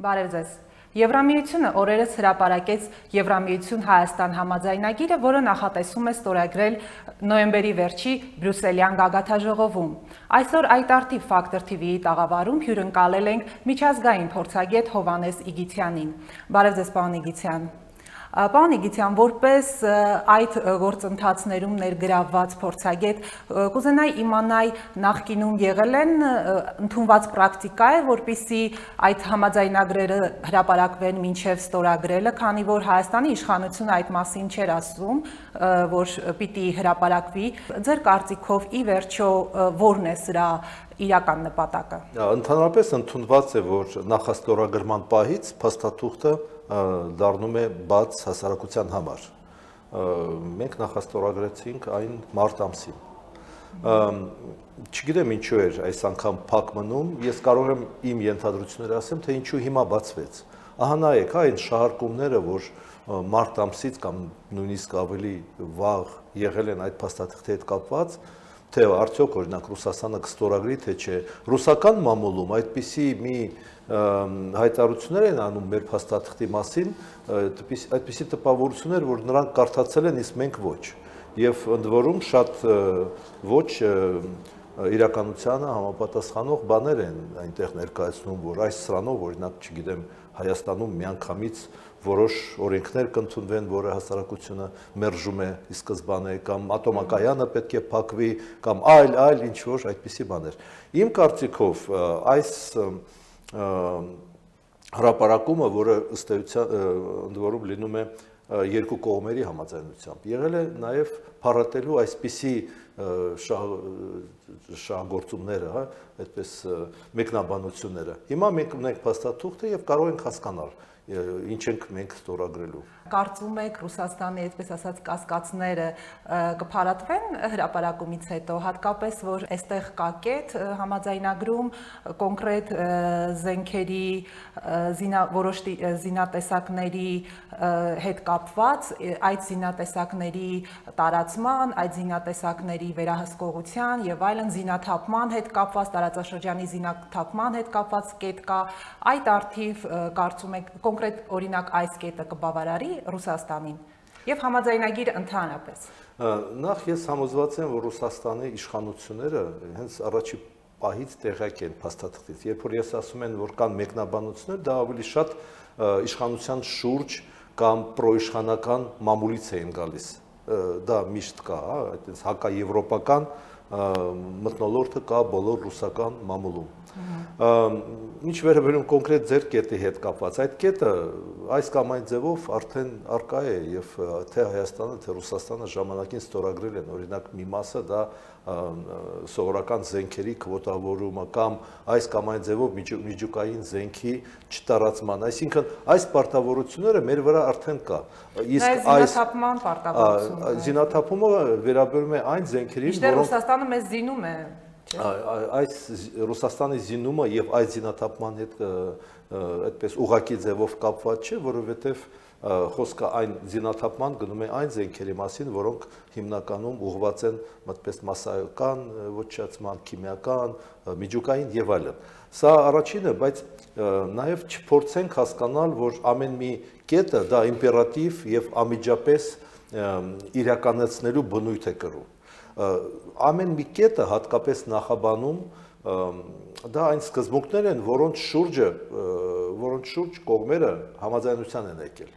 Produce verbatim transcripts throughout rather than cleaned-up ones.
Բարև ձեզ։ Եվրամիությունը օրերս հրապարակեց Եվրամիություն Հայաստան համաձայնագիրը, որը նախատեսում է ստորագրել նոյեմբերի վերջի բրյուսելյան գագաթաժողովում։ Այսօր այդ արդիվ Factor T V-ի տաղավարում հյուրընկալել ենք միջազգային փորձագետ Հովհաննես Իգիթյանին։ Բարև ձեզ, պարոն Իգիթյան։ Պարոն Իգիթյան, որպես այդ գործընթացներում ներգրավված փորձագետ, կուզենայի իմանալ նախկինում եղել են ընդունված պրակտիկա է, որպեսզի այդ համաձայնագրերը հրապարակվեն մինչև ստորագրելը, քանի որ Հայաստանի իշխանությունը այդ մասին չէր ասում, որ պիտի հրապարակվի։ Ձեր կարծիքով ի վերջո որն է սրա իրական նպատակը։ Ընդհանրապես ընդունված է, որ նախաստորագրման պահից փաստաթուղթը դառնում է բաց հասարակության համար։ Մենք նախաստորագրեցինք այն մարտ ամսին։ Չգիտեմ ինչու էր այս անգամ փակ մնում, ես կարող եմ իմ ենթադրությունները ասեմ, թե ինչու հիմա բացվեց։ Ահա նայեք, այն շահարկումները, որ մարտ ամսից կամ նույնիսկ ավելի վաղ եղել են այդ փաստաթղթի հետ կապված, թե արդյոք օրինակ Ռուսաստանը կստորագրի, թե չէ, ռուսական մամուլում այդպիսի մի հայտարարություններ են անում մեր փաստաթղթի մասին, այդպիսի տպավորություններ, որ նրանք կարդացել են, իսկ մենք ոչ։ Եվ ընդ որում շատ ոչ իրականությանը համապատասխանող բաներ են այնտեղ ներկայացնում, որ այս սրանով, օրինակ, չգիտեմ, Հայաստանում միանգամից որոշ օրենքներ կընդունվեն, որը հասարակությունը մերժում է ի սկզբանե, կամ ատոմակայանը պետք է փակվի, կամ այլ, այլ ինչ-որ այդպիսի բաներ։ Իմ կարծիքով այս հրապարակումը, որը ըստ էության ընդ որում լինում է երկու կողմերի համաձայնությամբ, եղել է նաև փառատելու այսպիսի շահգործումները, այդպես մեկնաբանությունները։ Հիմա մենք ունենք փաստաթուղթը եւ կարող ենք հասկանալ ինչ ենք մենք ստորագրելու։ Կարծում եք Ռուսաստանի, այսպես ասած, կասկածները կփարատվեն հրապարակումից հետո, հատկապես որ այստեղ կա կետ համաձայնագրում կոնկրետ զենքերի, որոշ զինատեսակների հետ կապված, այդ զինատեսակների տարածման, այդ զինատեսակների վերահսկողության եւ այլն զինաթափման հետ կապված, տարածաշրջանի զինաթափման հետ կապված կետ կա, այդ արդիվ կարծում եք կոնկրետ օրինակ այս կետը կբավարարի Ռուսաստանին եւ համաձայնագիրը ընդհանրապես։ Նախ ես համոզված եմ, որ Ռուսաստանի իշխանությունները հենց առաջի պահից տեղյակ են փաստաթղթից։ Երբ որ ես ասում եմ, որ կան մեկնաբանություններ, դա ավելի շատ իշխանության շուրջ կամ պրոիշխանական մամուլից էին գալիս։ Դա միշտ կա, այդպես հակաեվրոպական մթնոլորտը կա բոլոր ռուսական մամուլում։ Ինչ վերաբերում կոնկրետ ձեր կետի հետ կապված, այդ կետը այս կամ այն ձևով արդեն արկա է եւ թե Հայաստանը, թե Ռուսաստանը ժամանակին ստորագրել են, օրինակ մի մասը դա սովորական զենքերի քվոտավորումը կամ այս կամ այն ձևով միջուկային զենքի չտարածման, այսինքն այս պարտավորությունները մեր վրա արդեն կա։ Իսկ այս զինաթափման պարտավորությունը, զինաթափումը վերաբերում է այն զենքերին, որոնք Ռուսաստանը մեզ զինում է։ Այս Ռուսաստանի զինումը եւ այդ զինաթափման հետ այդպես ուղղակի ձևով կապված չէ, որովհետեւ խոսքը այն զինաթափման գնում է այն զենքերի մասին, որոնք հիմնականում ուղղված են մտպես մասսայական ոչնչացման, քիմիական, միջուկային եւ այլն։ Սա առաջինը, բայց նաեւ չփորձենք հասկանալ, որ ամեն մի կետը դա իմպերատիվ եւ անմիջապես իրականացնելու բնույթ է կրում։ Ամեն մի կետը հատկապես նախաբանում դա այն սկզբունքներ են, որոնց շուրջը, որոնց շուրջ կողմերը համաձայնության են եկել։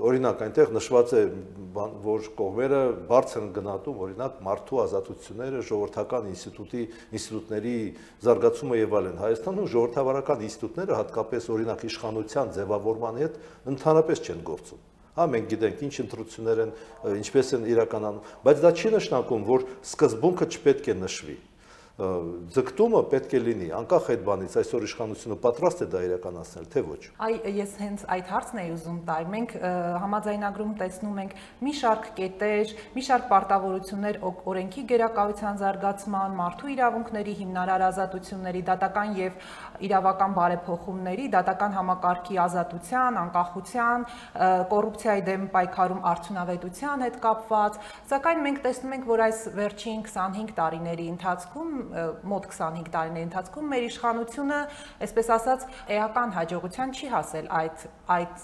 Օրինակ այնտեղ նշված է, որ կողմերը բարձր են գնահատում, օրինակ մարդու ազատությունները, ժողովրդական ինստիտուտի ինստիտուտների զարգացումը եւ այլն։ Հայաստանում ժողովրդավարական ինստիտուտները հատկապես օրինակ իշխանության ձևավորման հետ ընդհանրապես չեն գործում։ Հա մենք գիտենք ինչ ընտրություններ են, ինչպես են իրականանում, բայց դա չի նշանակում, որ սկզբունքը չպետք է նշվի։ Ձգտումը պետք է լինի, անկախ այդ բանից, այսօր իշխանությունը պատրաստ է դա իրականացնել, թե ոչ։ Այ ես հենց այդ հարցն էի ուզում տալ։ Մենք համաձայնագրում տեսնում ենք մի շարք կետեր, մի շարք պարտավորություններ օրենքի գերակայության զարգացման, մարդու իրավունքների հիմնարար ազատությունների, դատական եւ իրավական բարեփոխումների, դատական համակարգի ազատության, անկախության, կոռուպցիայի դեմ պայքարում արդյունավետության հետ կապված, սակայն մենք տեսնում ենք, որ այս վերջին քսանհինգ տարիների ընթացքում մոտ քսանհինգ տարիների ընթացքում մեր իշխանությունը, այսպես ասած, էական հաջողության չի հասել այդ այդ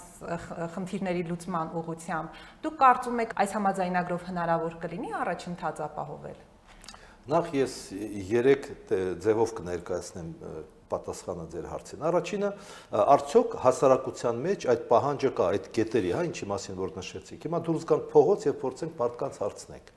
խնդիրների լուծման ուղղությամբ։ Դուք կարծում եք, այս համաձայնագրով հնարավոր կլինի առաջընթաց ապահովել։ Նախ ես երեք ձևով կներկայացնեմ պատասխանը ձեր հարցին։ Առաջինը, արդյոք հասարակության մեջ այդ պահանջը կա, այդ կետերի, հա, ինչի մասին որ նշեցիք։ Հիմա դուրս գանք փողոց եւ փորձենք մարդկանց հարցնենք։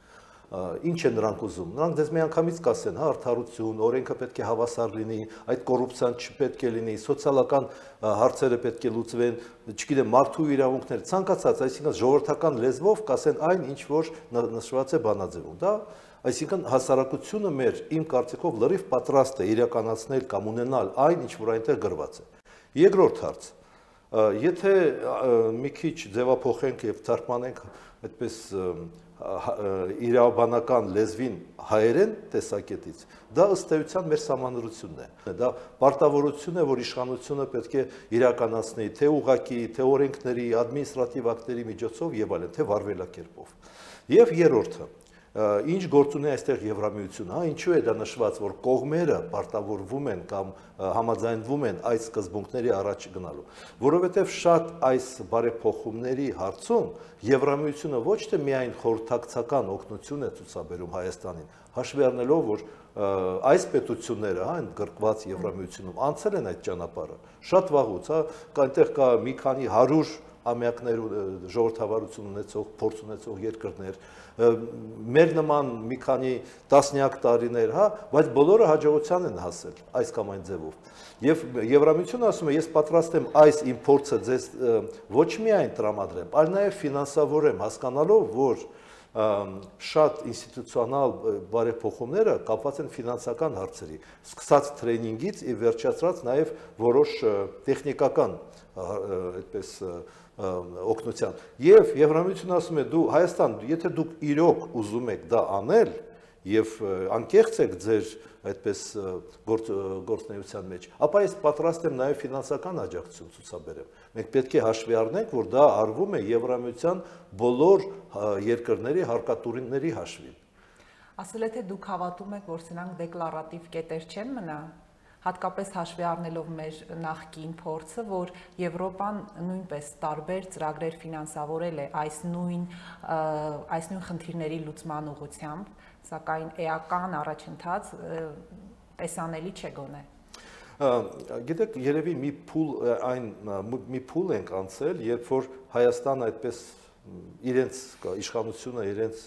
Ինչ են նրանք ուզում։ Նրանք դες միանգամից կասեն, հա, արդարություն, օրենքը պետք է հավասար լինի, այդ կոռուպցիան չպետք է լինի, սոցիալական հարցերը պետք է լուծվեն, չգիտեմ, մարդու իրավունքներ, ցանկացած, այսինքն ժողովրդական լեզվով կասեն այն, ինչ որ նշված է բանաձևում, դա Այսինքն հասարակությունը մեր իմ կարծիքով լրիվ պատրաստ է իրականացնել կամ ունենալ այն, ինչ որ այնտեղ գրված է։ Երկրորդ հարց. Եթե մի քիչ ձևափոխենք եւ թարգմանենք այդպես իրավաբանական լեզվին հայերեն տեսակետից, դա ըստ էության մեր սահմանադրությունն է։ Դա պարտավորություն է, որ իշխանությունը պետք է իրականացնի թե ուղղակի, թե օրենքների, ադմինիստրատիվ ակտերի միջոցով եւ այլն, թե վարվելակերպով։ Եվ երրորդը Ինչ գործ ունի այստեղ Եվրամիությունը, հա, ինչու է դա նշված, որ կողմերը պարտավորվում են կամ համաձայնվում են այս սկզբունքների առաջ գնալու, որովհետև շատ այս բարեփոխումների հարցում Եվրամիությունը ոչ թե միայն խորհրդակցական օգնություն է ցուցաբերում Հայաստանին, հաշվի առնելով, որ այս պետությունները, հա, ընդգրկված Եվրամիությունում անցել են այդ ճանապարհը, շատ վաղուց, հա, այնտեղ կա մի քանի հարյուր ամյակներ ժողովրդավարություն ունեցող, փորձ ունեցող երկրներ, մեր նման մի քանի տասնյակ տարիներ, հա, բայց բոլորը հաջողության են հասել այս կամ այն ձևով։ Եվ Եվրամիությունը ասում է, ես պատրաստ եմ այս իմ փորձը ձեզ ոչ միայն տրամադրեմ, այլ նաև ֆինանսավորեմ, հասկանալով, որ շատ ինստիտուցիոնալ բարեփոխումները կապված են ֆինանսական հարցերի, սկսած տրեյնինգից եւ վերջացրած նաև որոշ տեխնիկական այդպես օգնության։ Եվ Եվրամիությունը ասում է, դու Հայաստան, եթե դուք իրոք ուզում եք դա անել եւ անկեղծ եք ձեր այդպես գործունեության մեջ, ապա ես պատրաստ եմ նաև ֆինանսական աջակցություն ցուցաբերեմ։ Մենք պետք է հաշվի առնենք, որ դա արվում է Եվրամիության բոլոր երկրների հարկատուրինների հաշվին։ Ասել եք, թե դուք հավատում եք, որ սրանք դեկլարատիվ կետեր չեն մնա, հատկապես հաշվի առնելով մեր նախկին փորձը, որ Եվրոպան նույնպես տարբեր ծրագրեր ֆինանսավորել է այս նույն այս նույն խնդիրների լուծման ուղղությամբ, սակայն էական առաջընթաց տեսանելի չէ գոնե։ Գիտեք, երևի մի փուլ այն մի փուլ ենք անցել, երբ որ Հայաստանը այդպես իրենց իշխանությունը իրենց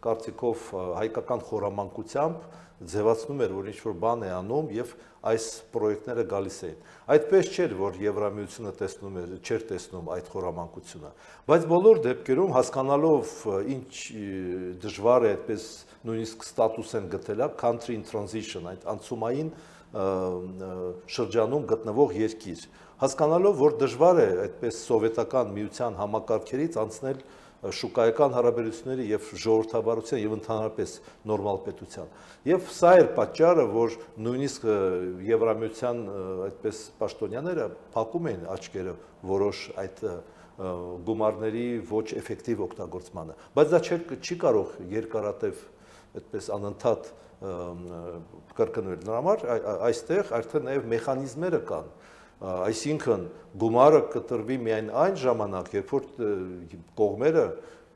կարծիքով հայկական խորամանկությամբ ձևացնում էր, որ ինչ-որ բան է անում եւ այս պրոյեկտները գալիս էին։ Այդպես չէր, որ Եվրամիությունը տեսնում էր, չէր տեսնում այդ խորամանկությունը, բայց բոլոր դեպքերում հասկանալով ինչ դժվար է այդպես նույնիսկ ստատուս են գտել, country in transition, այդ անցումային շրջանում գտնվող երկիր, հասկանալով, որ դժվար է այդպես սովետական միության համակարգերից անցնել շուկայական հարաբերությունների եւ ժողովրդավարության եւ ընդհանրապես նորմալ պետության։ Եվ սա էր պատճառը, որ նույնիսկ Եվրամիության այդպես պաշտոնյաները փակում էին աչքերը որոշ այդ գումարների ոչ էֆեկտիվ օգտագործմանը։ Բայց դա չի կարող երկարատև այդպես անընդհատ կրկնվել։ Նրա համար այստեղ արդեն նաեւ մեխանիզմները կան։ Այսինքն գումարը կտրվի միայն այն ժամանակ, երբ որ կողմերը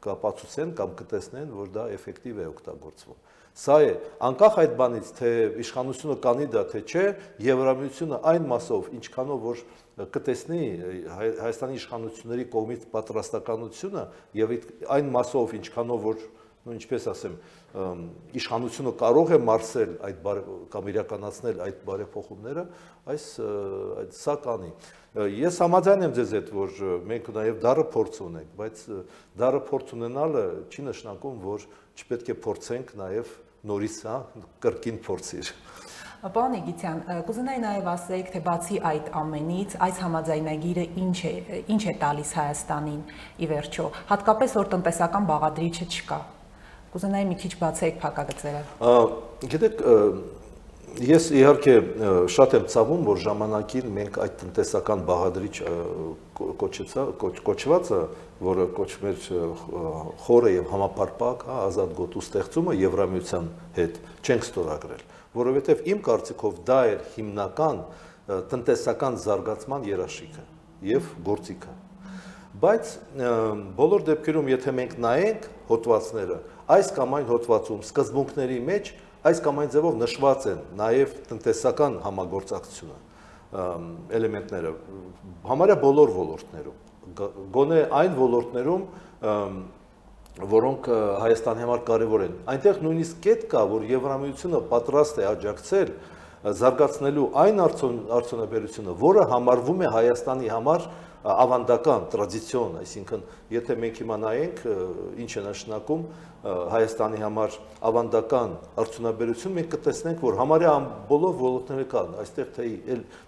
կապացուցեն կամ կտեսնեն, որ դա էֆեկտիվ է օգտագործվում։ Սա է, անկախ այդ բանից, թե իշխանությունը կանի դա, թե չէ, Եվրամիությունը այն մասով, ինչքանով որ կտեսնի Հայաստանի իշխանությունների կողմից պատրաստականությունը եւ այն մասով, ինչքանով որ ու ինչպես ասեմ, իշխանությունը կարող է մարսել այդ կամ իրականացնել այդ բարեփոխումները, այս սա կանի։ Ես համաձայն եմ ձեզ հետ, որ մենք նաև դառը փորձ ունենք, բայց դառը փորձ ունենալը չի նշանակում, որ չպետք է փորձենք նաև նորից, հա, կրկին փորձիր։ Պարոն Իգիթյան, կուզենայի նաև ասեք, թե բացի այդ ամենից, այս համաձայնագիրը ինչ է, ինչ է տալիս Հայաստանին ի վերջո, հատկապես որ տնտեսական բաղադրիչը չկա։ Կուզենայի մի քիչ բացեք փակագծերը։ Գիտեք, Ես իհարկե շատ եմ ցավում, որ ժամանակին մենք այդ տնտեսական բաղադրիչ կոչվածը, որը կոչվում էր խորը եւ համապարփակ, հա, ազատ գոտու ստեղծումը Եվրամիության հետ չենք ստորագրել, որովհետեւ իմ կարծիքով դա էր հիմնական տնտեսական զարգացման երաշխիքը եւ գործիքը։ Բայց բոլոր դեպքերում, եթե մենք նայենք հոդվածները, այս կամ այն հոդվածում սկզբունքների մեջ այս կամ այն ձևով նշված են նաև տնտեսական համագործակցությունը էլեմենտները համարյա բոլոր ոլորտներում, գոնե այն ոլորտներում, որոնք Հայաստանի համար կարևոր են։ Այնտեղ նույնիսկ կետ կա, որ Եվրամիությունը պատրաստ է աջակցել զարգացնելու այն արդյունաբերությունը, որը համարվում է Հայաստանի համար ավանդական, տրադիցիոն, այսինքն եթե մենք հիմա նայենք ինչ է նշանակում Հայաստանի համար ավանդական արդյունաբերություն, մենք կտեսնենք, որ համարյա բոլոր ոլորտները կան, այստեղ թե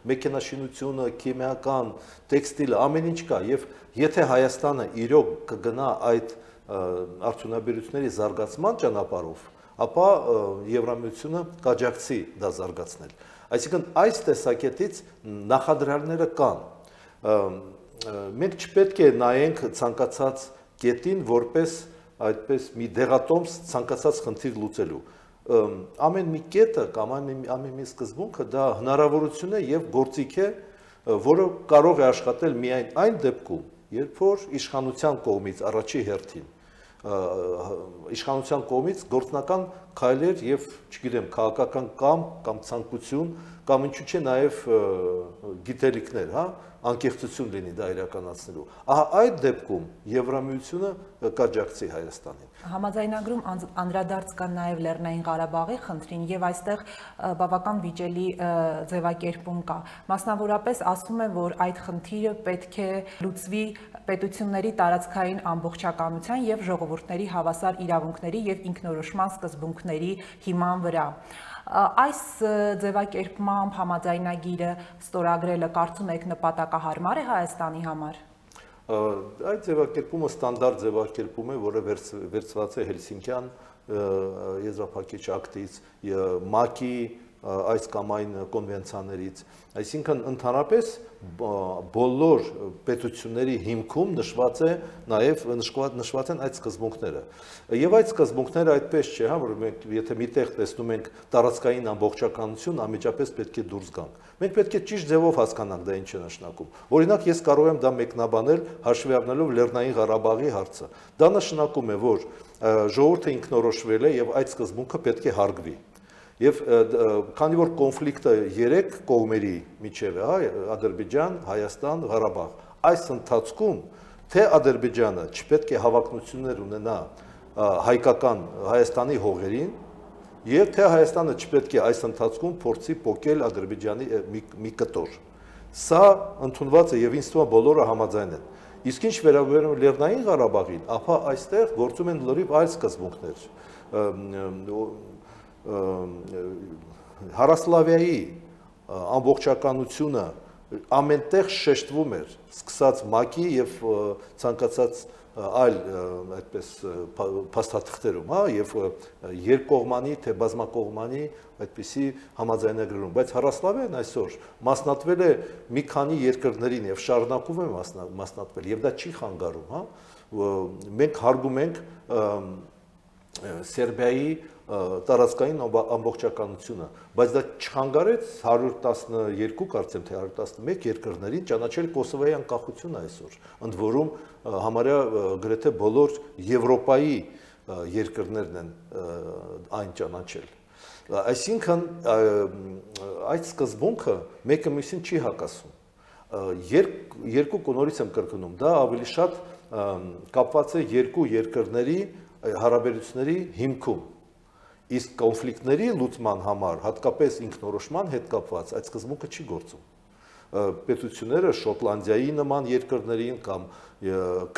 մեքենաշինությունը, քիմիական, տեքստիլը, ամեն ինչ կա, եւ եթե Հայաստանը իրոք կգնա այդ արդյունաբերությունների զարգացման ճանապարհով, ապա Եվրամիությունը կաջակցի դա զարգացնել։ Այսինքն այս տեսակետից նախադրյալները կան։ Մենք չպետք է նայենք ցանկացած կետին որպես այդպես մի դեղատոմս ցանկացած խնդիր լուծելու։ Ամեն մի կետը կամ ամեն մի սկզբունքը դա հնարավորություն է եւ գործիք է, որը կարող է աշխատել միայն այն դեպքում, երբ որ իշխանության կողմից առաջի հերթին իշխանության կողմից գործնական քայլեր եւ, չգիտեմ, քաղաքական կամ կամ ցանկություն կամ ինչու՞ չէ նաեւ գիտելիքներ, հա, անկեղծություն լինի դա իրականացնելու։ Ահա այդ դեպքում Եվրամիությունը կաջակցի Հայաստանին։ Համաձայնագրում անդրադարձ կան նաև Լեռնային Ղարաբաղի խնդրին եւ այստեղ բավական վիճելի ձևակերպում կա։ Մասնավորապես ասում է, որ այդ խնդիրը պետք է լուծվի պետությունների տարածքային ամբողջականության եւ ժողովուրդների հավասար իրավունքների եւ ինքնորոշման սկզբունքների հիման վրա։ Այս ձևակերպմամբ համաձայնագիրը ստորագրելը կարծում եք նպատակահարմար է Հայաստանի համար։ Այդ ձևակերպումը ստանդարտ ձևակերպում է, որը վերցված է Հելսինկյան եզրափակիչ ակտից, ՄԱԿ-ի այս կամ այն կոնվենցիաներից, այսինքն ընդհանրապես բոլոր պետությունների հիմքում նշված է նաև նշված են այդ սկզբունքները։ Եվ այդ սկզբունքները այդպես չէ, հա, որ մենք եթե միտեղ տեսնում ենք տարածքային ամբողջականություն, անմիջապես պետք է դուրս գանք։ Մենք պետք է ճիշտ ձևով հասկանանք դա ինչ է նշանակում։ Օրինակ ես կարող եմ դա մեկնաբանել հաշվի առնելով Լեռնային Ղարաբաղի հարցը։ Դա նշանակում է, որ ժողովուրդը ինքնորոշվել է եւ այդ սկզբունքը պետք է հարգվի։ Եվ քանի որ կոնֆլիկտը երեք կողմերի միջև է, հա, Ադրբեջան, Հայաստան, Ղարաբաղ, այս ընթացքում թե Ադրբեջանը չպետք է հավակնություններ ունենա հայկական Հայաստանի հողերին, եւ թե Հայաստանը չպետք է այս ընթացքում փորձի փոկել Ադրբեջանի մի կտոր։ Սա ընդունված է եւ ինձ թվում է բոլորը համաձայն են։ Իսկ ինչ վերաբերում է Լեռնային Ղարաբաղին, ապա այստեղ գործում են լրիվ այլ սկզբունքներ։ Հարասլավիայի ամբողջականությունը ամենտեղ շեշտվում էր, սկսած ՄԱԿ-ի եւ ցանկացած այլ այդպես փաստաթղթերում, հա, եւ երկկողմանի թե բազմակողմանի այդպիսի համաձայնագրերում, բայց Հարասլավիան այսօր մասնատվել է մի քանի երկրներին եւ շարունակում է մասնատվել եւ դա չի խանգարում, հա, մենք հարգում ենք Սերբիայի տարածքային ամբողջականությունը, բայց դա չխանգարեց հարյուր տասնյոթ կարծեմ թե հարյուր տասնմեկ երկրներին ճանաչել Կոսովոյի անկախությունը այսօր, ընդ որում համարյա գրեթե բոլոր Եվրոպայի երկրներն են այն ճանաչել։ Այսինքն այդ սկզբունքը մեկը մյուսին չի հակասում։ Երկու կողմից եմ կրկնում, դա ավելի շատ կապված է երկու երկրների հարաբերությունների հիմքում։ Իսկ կոնֆլիկտների լուծման համար, հատկապես ինքնորոշման հետ կապված, այդ սկզբունքը չի գործում։ Պետությունները Շոտլանդիայի նման երկրներին կամ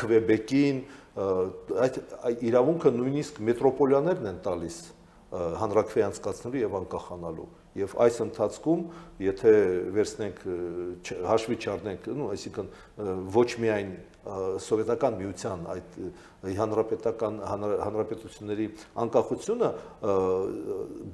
Քվեբեկին այդ իրավունքը նույնիսկ մետրոպոլիաներն են տալիս հանրաքվե անցկացնելու եւ անկախանալու։ Եվ այս ընթացքում, եթե վերցնենք հաշվի չառնենք, նո, այսինքն ոչ միայն սովետական միության այդ հանրապետական հանրապետությունների անկախությունը,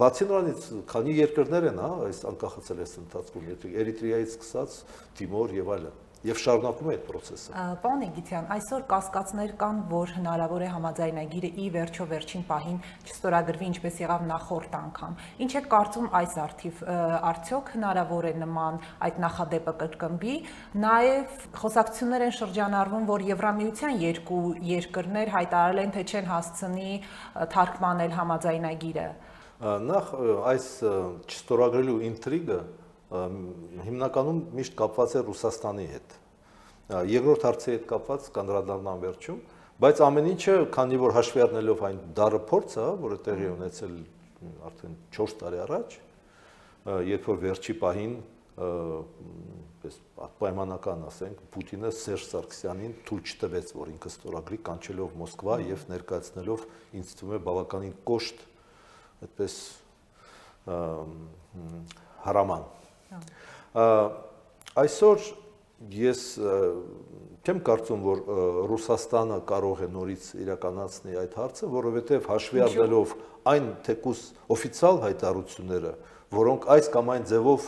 բացի նրանից, քանի երկրներ են, հա, այս անկախացել այս ընթացքում, Էրիտրեայից սկսած, Թիմոր եւ այլն։ Եվ շարունակում է այդ process-ը։ Պարոն Իգիթյան, այսօր կասկածներ կան, որ հնարավոր է համաձայնագիրը ի վերջո վերջին պահին չստորագրվի, ինչպես եղավ նախորդ անգամ։ Ինչ եք կարծում այս առթիվ, արդյոք հնարավոր է նման այդ նախադեպը կրկնվի, նաև խոսակցություններ են շրջանառվում, որ Եվրամիության երկու երկրներ հայտարարել են, թե չեն հասցնի թարգմանել համաձայնագիրը։ Նախ այս չստորագրելու ինտրիգը հիմնականում միշտ կապված է Ռուսաստանի հետ։ Երկրորդ հարցի հետ կապված կանդրադառնամ վերջում, բայց ամեն ինչը, քանի որ հաշվի առնելով այն դառը փորձը, որը տեղի է ունեցել արդեն չորս տարի առաջ, երբ որ վերջի պահին պայմանական ասենք, Պուտինը Սերժ Սարգսյանին թույլ չտվեց, որ ինքը ստորագրի, կանչելով Մոսկվա եւ ներկայացնելով, ինձ թվում է բավականին կոշտ, այդպես հարաման։ Այսօր ես չեմ կարծում, որ Ռուսաստանը կարող է նորից իրականացնի այդ հարցը, որովհետև հաշվի առնելով այն թեկուս օֆիցիալ հայտարարությունները, որոնք այս կամ այն ձևով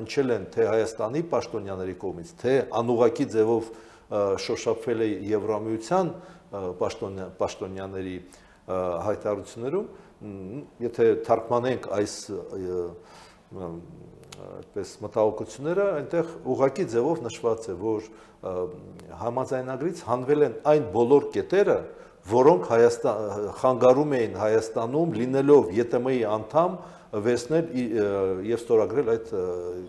հնչել են թե Հայաստանի պաշտոնյաների կողմից, թե անուղղակի ձևով շոշափվել է Եվրամիության պաշտոնյաների հայտարարություններում, եթե թարգմանենք այս այդպես մտահոգությունները, այնտեղ ուղղակի ձևով նշված է, որ համաձայնագրից հանվել են այն բոլոր կետերը, որոնք խանգարում էին Հայաստանում լինելով ԵՏՄ-ի անդամ վերցնել եւ ստորագրել այդ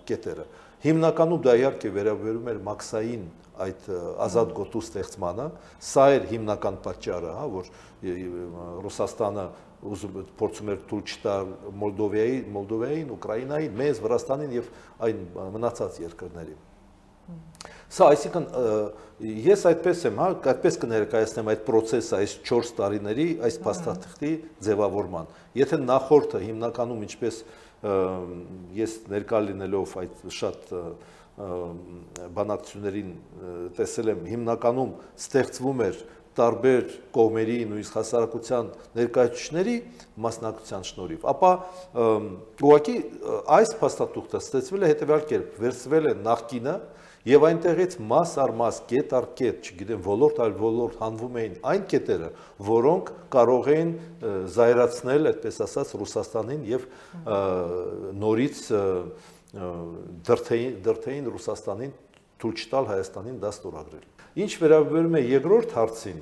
կետերը։ Հիմնականում դա իհարկե վերաբերում էր մաքսային այդ ազատ գոտու ստեղծմանը, սա էր հիմնական պատճառը, հա, որ Ռուսաստանը փորձում էր թույլ չտալ Մոլդովայի, Մոլդովային, Ուկրաինային, մեզ, Վրաստանին եւ այն մնացած երկրներին։ Սա այսինքն ես այդպես եմ, հա, այդպես կներկայացնեմ այդ process-ը այս չորս տարիների այս փաստաթղթի ձևավորման։ Եթե նախորդը հիմնականում ինչպես ես ներկա լինելով այդ շատ բանակցություններին տեսել եմ, հիմնականում ստեղծվում էր տարբեր կողմերի, նույնիսկ հասարակության ներկայացուցիչների մասնակցության շնորհիվ, ապա ուղղակի այս փաստաթուղթը ստացվել է հետևյալ կերպ, վերցվել է նախկինը եւ այնտեղից մաս առ մաս, կետ առ կետ, չգիտեմ, ոլորտ այլ ոլորտ հանվում էին այն կետերը, որոնք կարող էին զայրացնել, այդպես ասած, Ռուսաստանին եւ նորից դրթեին Ռուսաստանին թույլ չտալ Հայաստանին դա ստորագրել։ Ինչ վերաբերում է երկրորդ հարցին,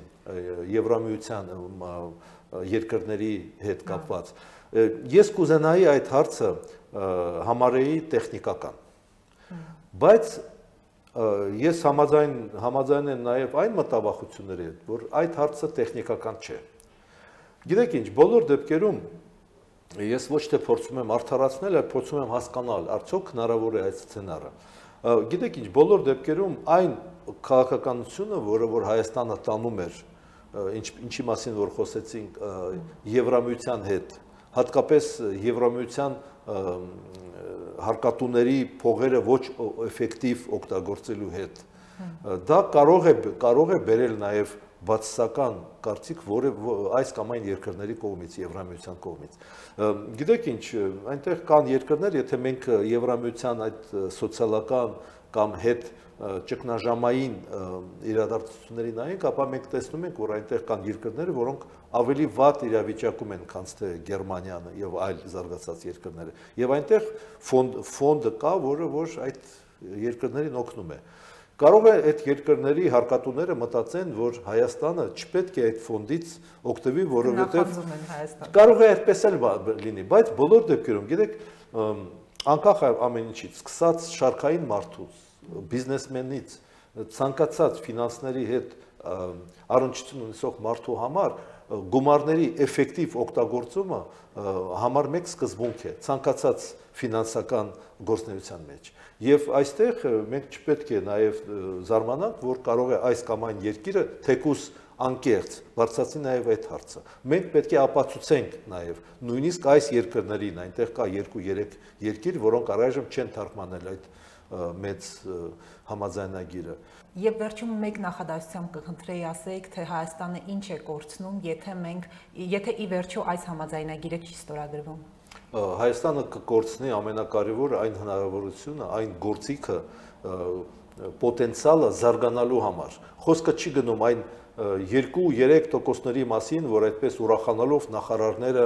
Եվրամիության երկրների հետ կապված, ես կուզենայի այդ հարցը համարեի տեխնիկական, բայց ես համաձայն համաձայն եմ նաև այն մտավախությունների հետ, որ այդ հարցը տեխնիկական չէ։ Գիտեք ինչ, բոլոր դեպքերում ես ոչ թե փորձում եմ արդարացնել, այլ փորձում եմ հասկանալ, արդյոք հնարավոր է այդ սցենարը։ Գիտեք ինչ, բոլոր դեպքերում այն քաղաքականությունը, որը որ Հայաստանը տանում էր, ինչի մասին որ խոսեցինք Եվրամիության հետ, հատկապես Եվրամիության հարկատուների փողերը ոչ էֆեկտիվ օգտագործելու հետ, դա կարող է կարող է բերել նաև բացասական կարծիք, որը այս կամ այն երկրների կողմից, Եվրամիության կողմից։ Գիտեք ինչ, այնտեղ կան երկրներ, եթե մենք Եվրամիության այդ սոցիալական կամ հետ ճգնաժամային իրադարձությունների նայենք, ապա մենք տեսնում ենք, որ այնտեղ կան երկրներ, որոնք ավելի վատ իրավիճակում են, քան թե Գերմանիան եւ այլ զարգացած երկրները։ Եվ այնտեղ ֆոնդը կա, որը որ այդ երկրներին օգնում է։ Կարող է այդ երկրների հարկատուները մտածեն, որ Հայաստանը չպետք է այդ ֆոնդից օգտվի, որովհետև կարող է այդպես էլ լինի, բայց բոլոր դեպքերում, գիտեք, անկախ ամեն ինչից, սկսած շարքային մարդուց, բիզնեսմենից, ցանկացած ֆինանսների հետ առնչություն ունեցող մարդու համար գումարների էֆեկտիվ օգտագործումը համար մեկ սկզբունք է ցանկացած ֆինանսական գործունեության մեջ։ Եվ այստեղ մենք չպետք է նաև զարմանանք, որ կարող է այս կամ այն երկիրը թեկուս անկեղծ, բարձրացնի նաև այդ հարցը։ Մենք պետք է ապացուցենք նաև, նույնիսկ այս երկրներին, այնտեղ կա երկու-երեք երկիր, որոնք առայժմ չեն թարգմանել այդ մեծ համաձայնագիրը։ Եվ վերջում մեկ նախադասությամբ կխնդրեի ասեիք, թե Հայաստանը ինչ է կորցնում, եթե մենք, եթե ի վերջո այս համաձայնագիրը չի ստորագրվում։ Հայաստանը կկորցնի ամենակարևորը այն հնարավորությունը, այն գործիքը, պոտենցիալը զարգանալու համար։ Խոսքը չի գնում այն երկու-երեք տոկոսների մասին, որ այդպես ուրախանալով նախարարները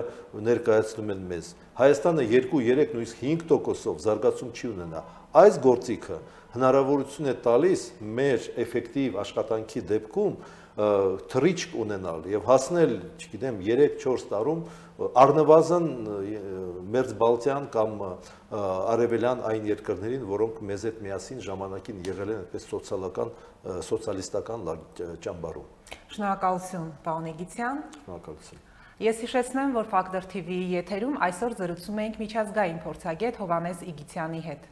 ներկայացնում են մեզ։ Հայաստանը երկու-երեք նույնիսկ հինգ տոկոսով զարգացում չի ունենա։ Այս գործիքը հնարավորություն է տալիս մեր էֆեկտիվ աշխատանքի դեպքում թռիչք ունենալ եւ հասնել, չգիտեմ, երեք-չորս տարում առնվազն Մերձբալթյան կամ արևելյան այն երկրներին, որոնք մեզ հետ միասին ժամանակին եղել են այդպես սոցիալական, սոցիալիստական ճամբարում։ Շնորհակալություն, պարոն Իգիթյան։ Շնորհակալություն։ Ես հիշեցնեմ, որ Factor T V-ի եթերում այսօր զրուցում էինք միջազգային փորձագետ Հովհաննես Իգիթյանի հետ։